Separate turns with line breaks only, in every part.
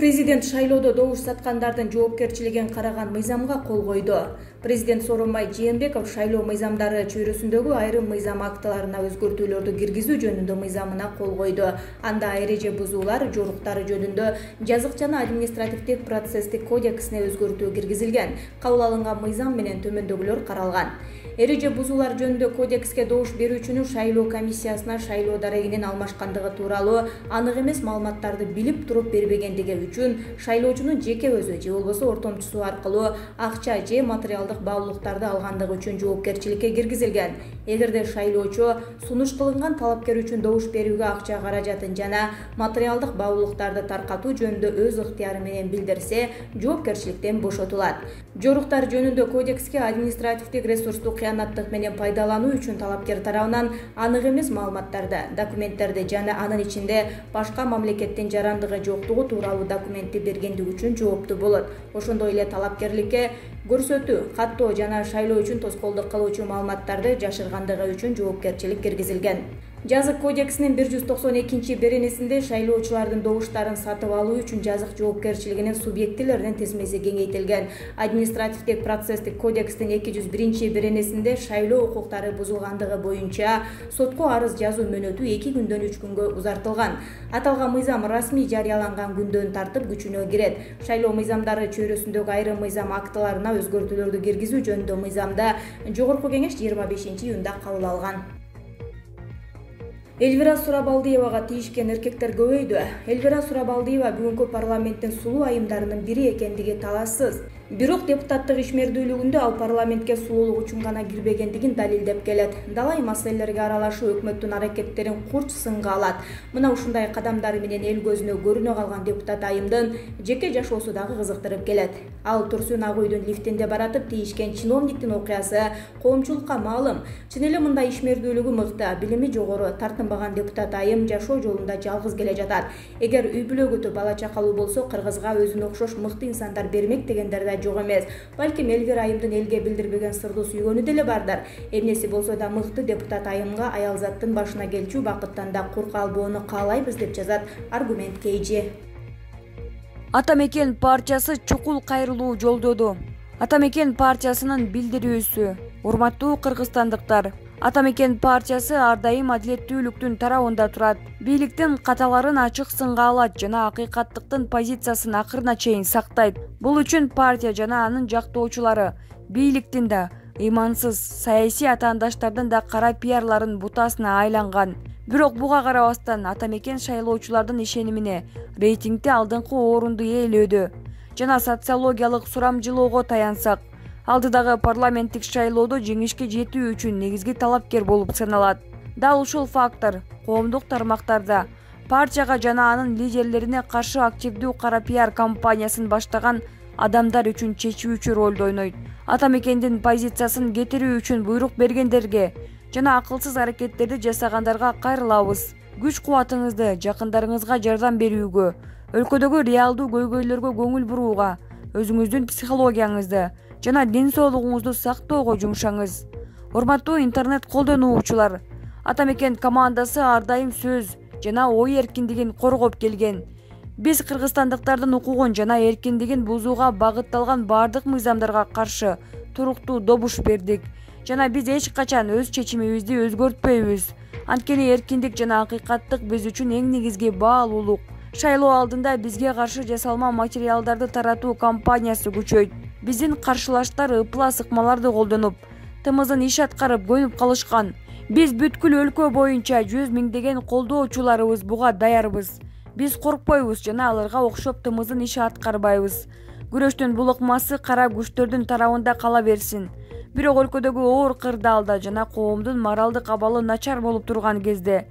Президент шайлоодо добуш саткандардын жоопкерчилигин караган мыйзамга кол койду. Президент Сооронбай Жээнбеков шайлоо мыйзамдары чөйрөсүндөгү айрым мыйзам актыларына өзгөртүүлөрдү киргизүү жөнүндө мыйзамына кол койду. Анда эреже бузуулар жоруктары жөнүндө жазык жана административдик процесстик кодексине өзгөртүү киргизилген. Кабыл алынган мыйзам менен төмөндөгүлөр каралган. Эреже бузуулар жөнүндө кодекске добуш берүүчүнүн шайлоо комиссиясына шайлоо дарегинин алмашкандыгы тууралуу анык эмес маалыматтарды билип туруп бербегендиги үчүн шайлоочунун жеке өзү же болбосо ортомчусу аркылуу акча же материалдык баалуулуктарды алгандыгы үчүн жоопкерчиликке киргизилген. Эгерде шайлоочу сунуш кылынган талапкер үчүн добуш берүүгө акча каражатын жана материалдык баалуулуктарды таркатуу жөнүндө өз ыктыяры менен билдирсе, жоопкерчиликтен бошотулат. Жоруктар жөнүндө кодекске административдик ресурсту кыянаттык менен пайдалануу үчүн талапкер тарабынан анык эмес маалыматтарды, документтерди жана анын ичинде башка мамлекеттин жарандыгы жоктугу тууралуу документти бергендиги үчүн жооптуу болот. Ошондой эле талапкерликке көрсөтүү, каттоо жана шайлоо үчүн тоскоолдук кылуучу маалыматтарды жашыргандыгы үчүн жоопкерчилик киргизилген. Жазык кодексинин 192-беренесинде шайлоочулардын добуштарын сатып алуу үчүн жазык жоопкерчилигинин субъектилеринин тизмеси кеңейтилген. Административдик процесстик кодекстин 201-беренесинде шайлоо укуктары бузулгандыгы боюнча сотко арыз жазуу мөөнөтү 2 күндөн 3 күнгө узартылган. Аталган мыйзам расмий жарыяланган күндөн тартып күчүнө кирет. Шайлоо мыйзамдары чөйрөсүндөгү айрым мыйзам актыларына өзгөртүүлөрдү киргизүү жөнүндө мыйзамда Жогорку кеңеш 25-июнда кабыл алган. Эльвира Сурабалдиевага тийишкен эркектер көбөйдү. Эльвира Сурабалдиева бүгүнкү парламенттин сулуу айымдарынын бири экендиги талашсыз. Бирок депутаттык ишмердүүлүгүндө ал парламентке сулуулук үчүн гана кирбегендигин далилдеп келет. Далай маселелерге аралашуу өкмөттүн аракеттерин курч сынга алат. Мына ушундай кадамдары менен эл көзүнө көрүнө калган депутат айымдын жеке жашоосу дагы кызыктырып келет. Ал Турсун Ак үйдүн лифтинде баратып тийишкен чиновниктин окуясы коомчулукка маалым. Чын эле мындай ишмердүүлүгү мыкты, билими жогору, тартынбаган депутат айым жашоо жолунда жалгыз келе жатат. Эгер үй бүлөгүтү бала чакалуу болсо, кыргызга өзүнө окшош мыкты инсандар бермек дегендер да жок эмес. Балким Эльвира айымдын элге билдирбеген сырдуу сүйгөнү деле бардыр. Эмнеси болсо да мыкты депутат айымга аялзаттын башына келчү бакыттан да курк албоону каалайбыз деп жазат Аргумент KG.
Ата мекен партиясы чукул кайрылуу жолдоду. Ата мекен партиясынын билдирүүсү. Урматтуу кыргызстандыктар, Ата мекен партиясы ар дайым адилеттүүлүктүн тарабында турат. Бийликтин каталарын ачык сынга алат жана акыйкаттыктын позициясын акырына чейин сактайт. Бул үчүн партия жана анын жактоочулары бийликтин да, ыймансыз саясий атаандаштардын да кара пиарларын бутасына айланган. Бирок буга карабастан Ата мекен шайлоочулардын ишенимине рейтингде алдыңкы орунду ээлөөдө жана социологиялык сурамжылоого таянсак, алдыдагы парламенттик шайлоодо жеңишке жетүү үчүн негизги талапкер болуп саналат. Дал ушул фактор коомдук тармактарда партияга жана анын лидерлерине каршы активдүү кара пиар кампаниясын баштаган адамдар үчүн чечүүчү ролду ойнойт. Ата мекендин позициясын кетирүү үчүн буйрук бергендерге жана акылсыз аракеттерди жасагандарга кайрылабыз. Күч кубатыңызды жакындарыңызга жардам берүүгө, өлкөдөгү реалдуу көйгөйлөргө көңүл бурууга, өзүңүздүн психологияңызды жана ден соолугуңузду сактоого жумшаңыз. Урматтуу интернет колдонуучулар, Ата мекен командасы ар дайым сөз жана ой эркиндигин коргоп келген. Биз кыргызстандыктардын укугун жана эркиндигин бузууга багытталган бардык мыйзамдарга каршы туруктуу добуш бердик жана биз эч качан өз чечимибизди өзгөртпөйбүз. Анткени эркиндик жана акыйкаттык биз үчүн эң негизги баалуулук. Шайлоо алдында бизге каршы жасалма материалдарды таратуу кампаниясы күчөйт. Биздин каршылаштар ыпла сыкмаларды колдонуп, тымызын иш аткарып көнүп калышкан. Биз бүткүл өлкө боюнча 100 миңдеген колдоочуларыбыз буга даярбыз. Биз коркпойбуз жана аларга окшоп тымызын иш аткарбайбыз. Күрөштүн бул ыкмасы кара күчтөрдүн тарабында кала берсин. Бирок өлкөдөгү оор кырдаалда жана коомдун моралдык абалы начар болуп турган кезде,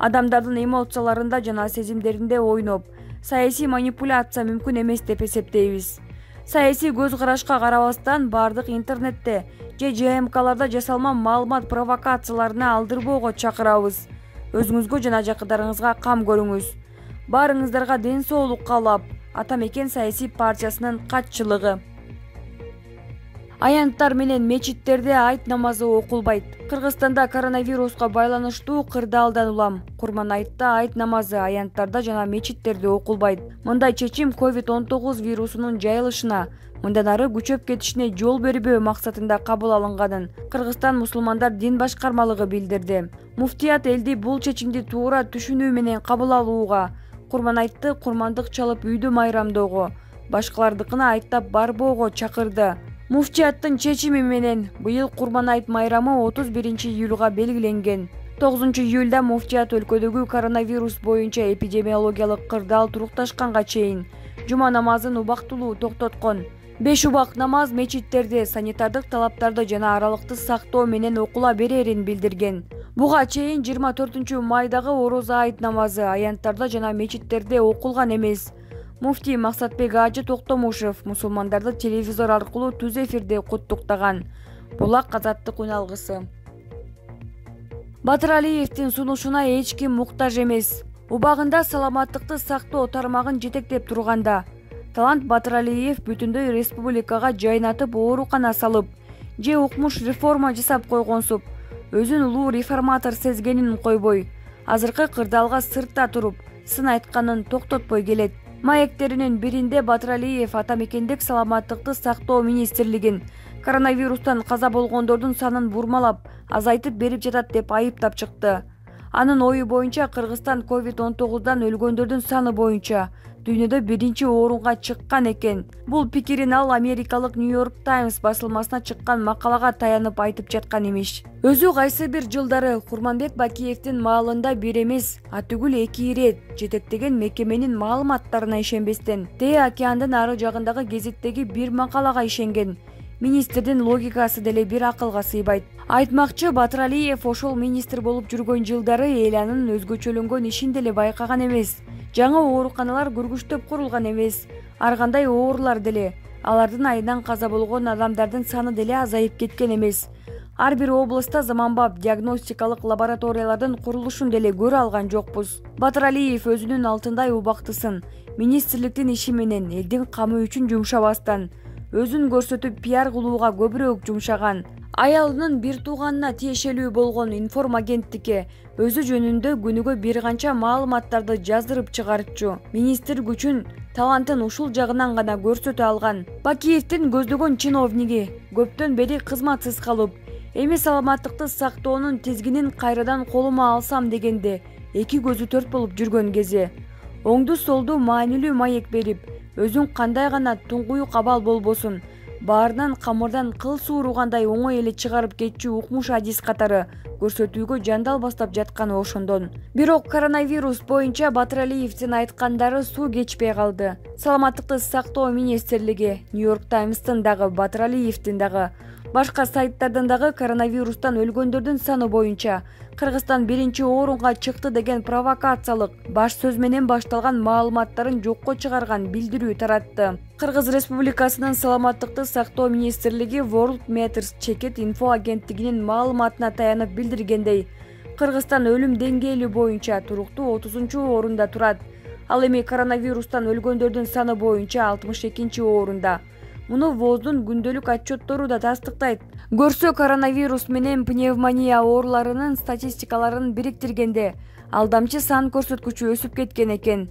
адамдардын эмоцияларында жана сезимдеринде ойноп, саясий манипуляция мүмкүн эмес деп эсептейбиз. Саясий көз карашка карабастан бардык интернетте же ЖМКларда жасалма маалымат провокацияларына алдырбоого чакырабыз. Өзүңүзгө жана жакындарыңызга кам көрүңүз. Баарыңыздарга ден соолук каалап, Ата мекен саясий партиясынын катчылыгы. Аянттар менен мечиттерде айт намазы окулбайт. Кыргызстанда коронавируска байланыштуу кырдаалдан улам. Курман айтта айт намазы аянттарда жана мечиттерде окулбайт. Мындай чечим COVID-19 вирусунун жайылышына, мындан ары күчөп кетишине жол бербөө максатында кабыл алынганын Кыргызстан мусулмандар дин башкармалыгы билдирди. Муфтият элди бул чечимди туура түшүнүү менен кабыл алууга, Курман айтты курмандык чалып үйдү майрамдоого, башкалардыкына айттап барбоого чакырды. Муфтияттын чечими менен быйыл Курман айт майрамы 31-июлга белгиленген. 9-июлда муфтият өлкөдөгү коронавирус боюнча эпидемиологиялык кырдаал турукташканга чейин жума намазын убактылуу токтоткон. 5 убак намаз мечиттерде санитардык талаптарды жана аралыкты сактоо менен окула берерин билдирген. Буга чейин 24 майдагы орозо айт намазы аянттарда жана мечиттерде окулган эмес. Муфтий Максатбек Ажы Токтомушев мусулмандарды телевизор аркылуу түз эфирде куттуктаган. Булак азаттык үналгысы. Батыралиевдин сунушуна эч ким муктаж эмес. Убагында саламаттыкты сактоо тармагын жетектеп турганда Талант Батыралиев бүтүндөй республикага жайнатып оорукана салып, же укмуш реформа жасап койгонсуп, өзүн улуу реформатор сезгенин койбой, азыркы кырдаалга сыртта туруп, сын айтканын токтотпой келет. Маектеринин биринде Батыралиев атамекендик саламаттыкты сактоо министрлигин коронавирустан каза болгондордун санын бурмалап, азайтып берип жатат деп айыптап чыкты. Анын ою боюнча Кыргызстан COVID-19дан өлгөндөрдүн саны боюнча дүйнөдө биринчи орунга чыккан экен. Бул пикирин ал Америкалык New York Times басылмасына чыккан макалага таянып айтып жаткан имиш. Өзү кайсы бир жылдары Курманбек Бакиевдин маалында бир эмес, түгүл 2 ирет жетектеген мекеменин маалыматтарына ишенбестен, Тээ океандын ары жагындагы гезиттеги бир макалага ишенген. Министрдин логикасы деле бир акылга сыйбайт. Айтмакчы, Батыралиев ошол министр болуп жүргөн жылдары эл анын өзгөчөлөнгөн ишин деле байкаган эмес. Жаңы ооруканалар көргүчтөп курулган эмес. Ар кандай оорулар деле, алардын айынан каза болгон адамдардын саны деле азайып кеткен эмес. Ар бир областта заманбап диагностикалык лабораториялардын курулушун деле көрө алган жокпуз. Батыралиев өзүнүн алтындай убактысын министрликтин иши менен элдин камы үчүн жумшабастан, өзүн көрсөтүп пиар кылууга көбүрөөк жумшаган. Аялынын бир тууганына тиешелүү болгон информ агенттикке өзү жөнүндө күнүгө бир канча маалыматтарды жаздырып чыгарчу. Министр күчүн, талантын ушул жагынан гана көрсөтө алган. Бакиевдин көздөгөн чиновниги көптөн бери кызматсыз калып, эми саламаттыкты сактоонун тизгинин кайрадан колума алсам дегенде эки көзү төрт болуп жүргөн кези. Оңду солду маанилүү маек берип, өзүн кандай гана туңгуюк абал болбосун, баарынан камырдан кыл сууругандай оңой эле чыгарып кетчү укмуш адис катары көрсөтүүгө жандал бастап жатканы ошондон. Бирок коронавирус боюнча Батыралиевдин айткандары суу кечпей калды. Саламаттыкты сактоо министрлиги, New York Times'тын дагы, Батыралиевдин дагы, башка сайттардын дагы коронавирустан өлгөндөрдүн саны боюнча Кыргызстан биринчи орунга чыкты деген провокациялык баш сөз менен башталган маалыматтарын жокко чыгарган билдирүү таратты. Кыргыз Республикасынын саламаттыкты сактоо министрлиги World Matters чекит инфо агенттигинин маалыматына таянып билдиргендей, Кыргызстан өлүм деңгээли боюнча туруктуу 30-орунда турат. Ал эми коронавирустан өлгөндөрдүн саны боюнча 62-орунда. Муну ВОЗдун күндөлүк отчеттору да тастыктайт. Көрсө коронавирус менен пневмония ооруларынын статистикаларын бириктиргенде алдамчы сан көрсөткүчү өсүп кеткен экен.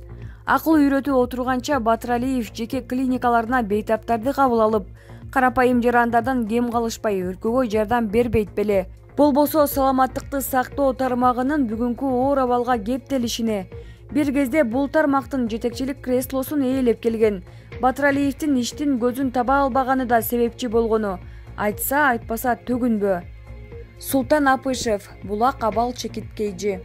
Акыл үйрөтүп отурганча Батыралиев жеке клиникаларына бейтаптарды кабыл алып, карапайым жарандардан кем калышпай өлкөгө жардам бербейт беле. Болбосо саламаттыкты сактоо тармагынын бүгүнкү оор абалга кептелишине, бир кезде бул тармактын жетекчилик креслосун ээлеп келген Батыралиевдин иштин көзүн таба албаганы да себепчи болгону айтса айтпаса төгүнбө. Султан Апышев, Булак абал чекиткейжи.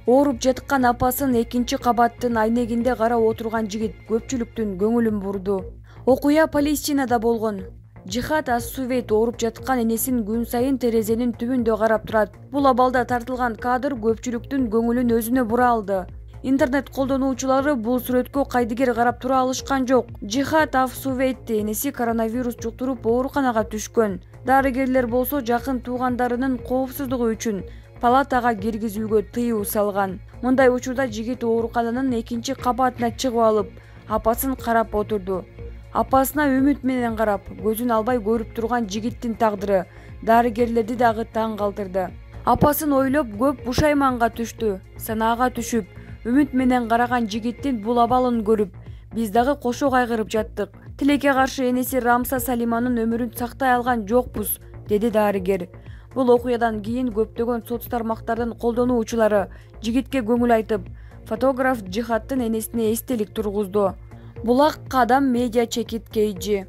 Ооруп жаткан апасын 2-кабаттын айнегинде карап отурган жигит көпчүлүктүн көңүлүн бурду. Окуя Палестинада болгон. Жихад Ас-Сувейт ооруп жаткан энесин күн сайын терезенин түбүндө карап турат. Бул абалда тартылган кадр көпчүлүктүн көңүлүн өзүнө бура алды. Интернет колдонуучулары бул сүрөткө кайдыгер карап тура алышкан жок. Жихад Ас-Сувейт энеси коронавирус жуктуруп ооруканага түшкөн. Дарыгерлер болсо жакын туугандарынын коопсуздугу үчүн палатага киргизүүгө тыюу салган.
Мындай учурда жигит оорукананын 2-кабатына чыгып алып, апасын карап отурду.
Апасына үмүт менен карап, көзүн албай көрүп турган жигиттин тагдыры дарыгерлерди дагы таң калтырды. Апасын ойлоп көп бушайманга түштү. Санаага түшүп, үмүт менен караган жигиттин бул абалын көрүп, биз дагы кошо кайгырып жаттык. Тилекке каршы энеси Рамса Салиманын өмүрүн сактай алган жокпуз, деди дарыгер. Бул окуядан кийин көптөгөн соц тармактардын колдонуучулары жигитке көңүл айтып, фотограф Жихаттын энесине эстелик тургузду. Булак Кадам медиа чекит KG.